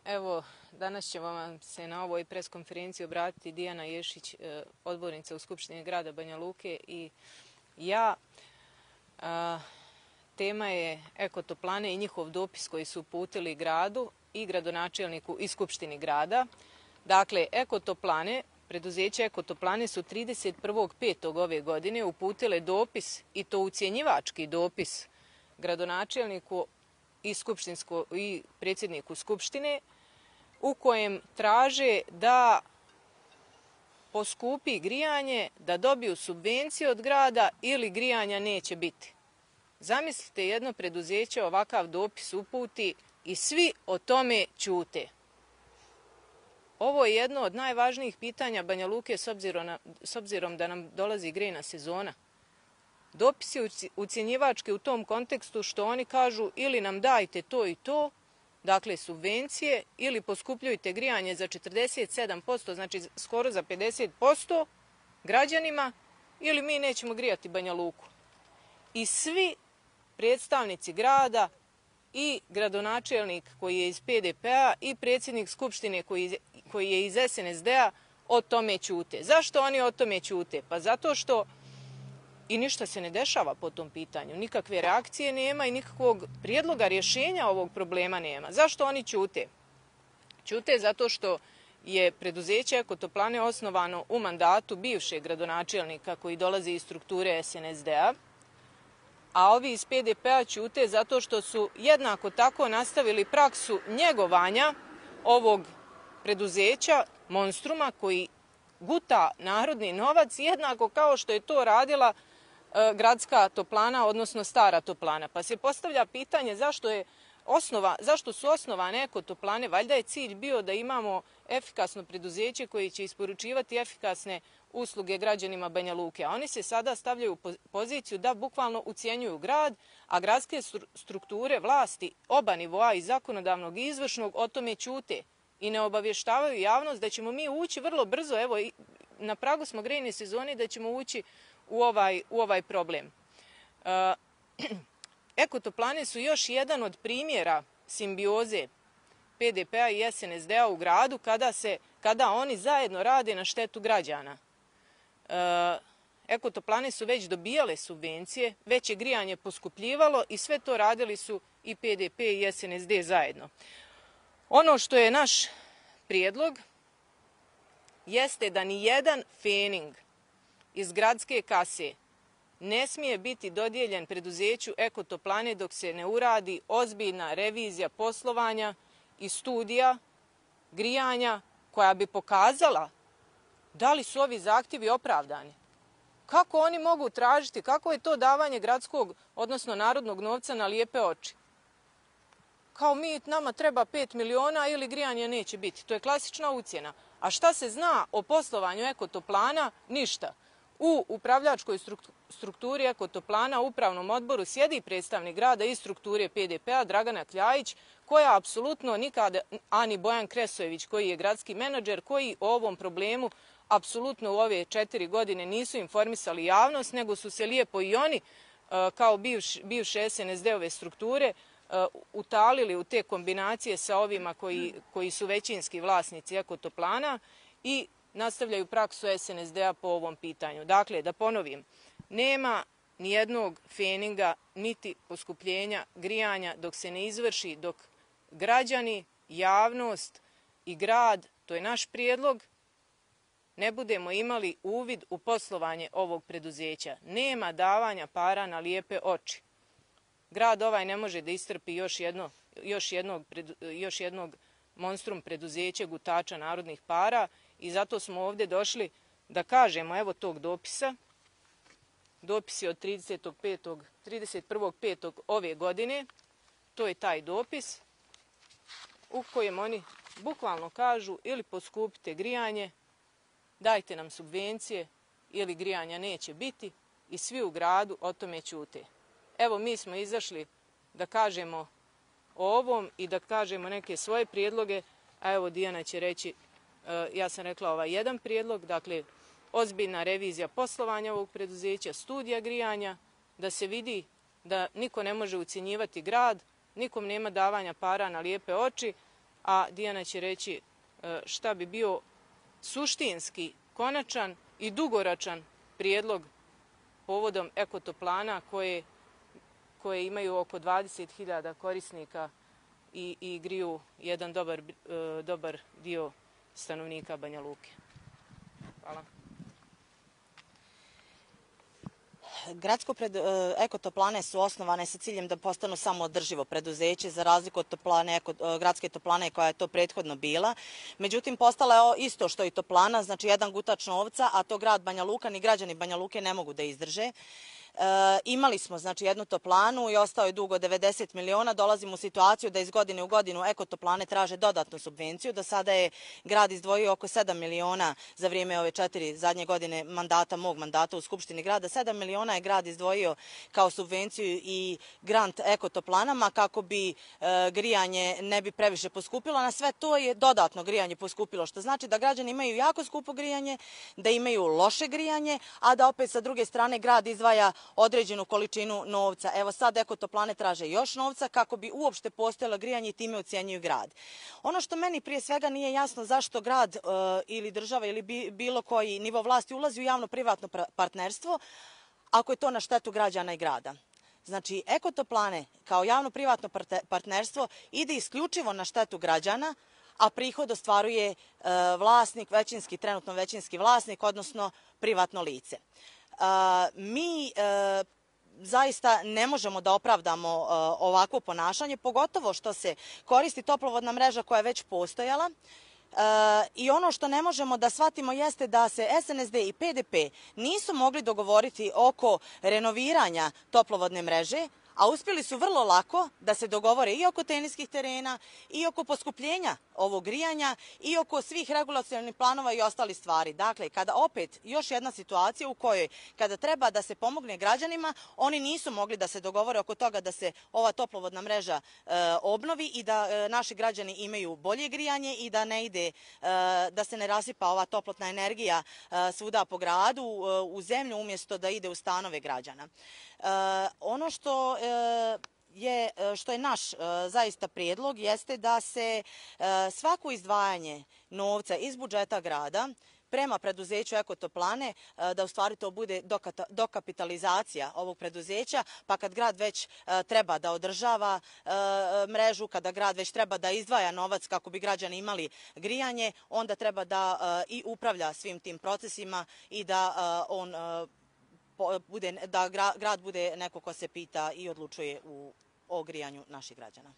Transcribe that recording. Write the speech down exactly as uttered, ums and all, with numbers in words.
Evo, danas će vam se na ovoj pres konferenciji obratiti Dijana Ješić, odbornica u Skupštini grada Banja Luke i ja. Tema je ekotoplane i njihov dopis koji su uputili gradu i gradonačelniku i Skupštini grada. Dakle, ekotoplane, preduzeće ekotoplane su trideset prvog petog ove godine uputile dopis, i to ucjenjivački dopis, gradonačelniku i, i predsjedniku Skupštine, u kojem traže da poskupi grijanje, da dobiju subvencije od grada ili grijanja neće biti. Zamislite, jedno preduzeće ovakav dopis uputi i svi o tome ćute. Ovo je jedno od najvažnijih pitanja Banja Luke s obzirom, na, s obzirom da nam dolazi grejna sezona. Dopis je ucjenjivački u tom kontekstu što oni kažu ili nam dajte to i to, dakle subvencije, ili poskupljujte grijanje za četrdeset sedam posto, znači skoro za pedeset posto građanima, ili mi nećemo grijati Banja Luku. I svi predstavnici grada i gradonačelnik koji je iz P D P-a i predsjednik Skupštine koji, koji je iz S N S D-a o tome ćute. Zašto oni o tome ćute? Pa zato što i ništa se ne dešava po tom pitanju. Nikakve reakcije nema i nikakvog prijedloga rješenja ovog problema nema. Zašto oni ćute? Ćute zato što je preduzeće ekotoplane osnovano u mandatu bivšeg gradonačelnika koji dolazi iz strukture S N S D-a, a ovi iz P D P-a ćute zato što su jednako tako nastavili praksu njegovanja ovog preduzeća, monstruma koji guta narodni novac, jednako kao što je to radila e, gradska toplana, odnosno stara toplana. Pa se postavlja pitanje zašto, je osnova, zašto su osnovane ekotoplane. Valjda je cilj bio da imamo efikasno preduzeće koje će isporučivati efikasne usluge građanima Banja Luke. A oni se sada stavljaju u poziciju da bukvalno ucjenjuju grad, a gradske strukture vlasti oba nivoa, i zakonodavnog i izvršnog, o tome ćute i ne obavještavaju javnost da ćemo mi ući vrlo brzo, evo na pragu smo grejne sezone, da ćemo ući u ovaj, u ovaj problem. E, ekotoplane su još jedan od primjera simbioze P D P-a i S N S D-a u gradu kada, se, kada oni zajedno rade na štetu građana. E, ekotoplane su već dobijale subvencije, već je grijanje poskupljivalo i sve to radili su i P D P i S N S D zajedno. Ono što je naš prijedlog jeste da ni jedan fening iz gradske kase ne smije biti dodijeljen preduzeću ekotoplane dok se ne uradi ozbiljna revizija poslovanja i studija grijanja koja bi pokazala da li su ovi zahtjevi opravdani. Kako oni mogu tražiti, kako je to davanje gradskog, odnosno narodnog novca na lijepe oči? Kao mi, nama treba pet miliona ili grijanje neće biti. To je klasična ucjena. A šta se zna o poslovanju ekotoplana? Ništa. U upravljačkoj strukturi ekotoplana, u upravnom odboru, sjedi predstavnik grada iz strukture P D P-a, Dragana Kljajić, koja apsolutno nikada, ani Bojan Kresojević, koji je gradski menadžer, koji o ovom problemu apsolutno u ove četiri godine nisu informisali javnost, nego su se lijepo i oni, kao bivš, bivše S N S D-ove strukture, utalili u te kombinacije sa ovima koji, koji su većinski vlasnici ekotoplana i nastavljaju praksu S N S D-a po ovom pitanju. Dakle, da ponovim, nema nijednog feninga niti poskupljenja grijanja dok se ne izvrši, dok građani, javnost i grad, to je naš prijedlog, ne budemo imali uvid u poslovanje ovog preduzeća. Nema davanja para na lijepe oči. Grad ovaj ne može da istrpi još, jedno, još, jednog, još jednog monstrum preduzeća gutača narodnih para i zato smo ovdje došli da kažemo evo tog dopisa. Dopis je od trideset prvog petog ove godine. To je taj dopis u kojem oni bukvalno kažu ili poskupite grijanje, dajte nam subvencije ili grijanja neće biti i svi u gradu o tome ćute. Evo mi smo izašli da kažemo o ovom i da kažemo neke svoje prijedloge, a evo Dijana će reći, ja sam rekla ovaj jedan prijedlog, dakle ozbiljna revizija poslovanja ovog preduzeća, studija grijanja, da se vidi da niko ne može ucjenjivati grad, nikom nema davanja para na lijepe oči, a Dijana će reći šta bi bio suštinski, konačan i dugoročan prijedlog povodom ekotoplana koje, koje imaju oko dvadeset hiljada korisnika i, i griju jedan dobar, dobar dio stanovnika Banja Luke. Hvala. Gradsko pred, ekotoplane su osnovane sa ciljem da postanu samoodrživo preduzeće, za razliku od toplane, eko, gradske toplane koja je to prethodno bila. Međutim, postala je isto što i toplana, znači jedan gutač novca, a to grad Banja Luka ni građani Banja Luke ne mogu da izdrže. E, imali smo znači jednu toplanu i ostao je dug od devedeset miliona. Dolazimo u situaciju da iz godine u godinu ekotoplane traže dodatnu subvenciju. Do sada je grad izdvojio oko sedam miliona za vrijeme ove četiri zadnje godine mandata, mog mandata u Skupštini grada. sedam miliona je grad izdvojio kao subvenciju i grant ekotoplanama kako bi e, grijanje ne bi previše poskupilo. Na sve to je dodatno grijanje poskupilo, što znači da građani imaju jako skupo grijanje, da imaju loše grijanje, a da opet sa druge strane grad izdvaja određenu količinu novca. Evo sad ekotoplane traže još novca kako bi uopšte postojalo grijanje i time ucjenjuju grad. Ono što meni prije svega nije jasno zašto grad e, ili država ili bi, bilo koji nivo vlasti ulazi u javno-privatno partnerstvo ako je to na štetu građana i grada. Znači, ekotoplane kao javno-privatno partnerstvo ide isključivo na štetu građana, a prihod ostvaruje e, vlasnik, većinski, trenutno većinski vlasnik, odnosno privatno lice. Uh, mi uh, zaista ne možemo da opravdamo uh, ovakvo ponašanje, pogotovo što se koristi toplovodna mreža koja je već postojala. Uh, I ono što ne možemo da shvatimo jeste da se S N S D i P D P nisu mogli dogovoriti oko renoviranja toplovodne mreže, a uspjeli su vrlo lako da se dogovore i oko teniskih terena, i oko poskupljenja ovog grijanja, i oko svih regulacionih planova i ostalih stvari. Dakle, kada opet još jedna situacija u kojoj kada treba da se pomogne građanima, oni nisu mogli da se dogovore oko toga da se ova toplovodna mreža e, obnovi i da e, naši građani imaju bolje grijanje i da ne ide, e, da se ne rasipa ova toplotna energija e, svuda po gradu, e, u zemlju, umjesto da ide u stanove građana. E, ono što je, što je naš zaista prijedlog jeste da se svako izdvajanje novca iz budžeta grada prema preduzeću Ekotoplane, da u stvari to bude dokapitalizacija ovog preduzeća, pa kad grad već treba da održava mrežu, kada grad već treba da izdvaja novac kako bi građani imali grijanje, onda treba da i upravlja svim tim procesima i da on bude, da grad bude neko ko se pita i odlučuje u, o grijanju naših građana.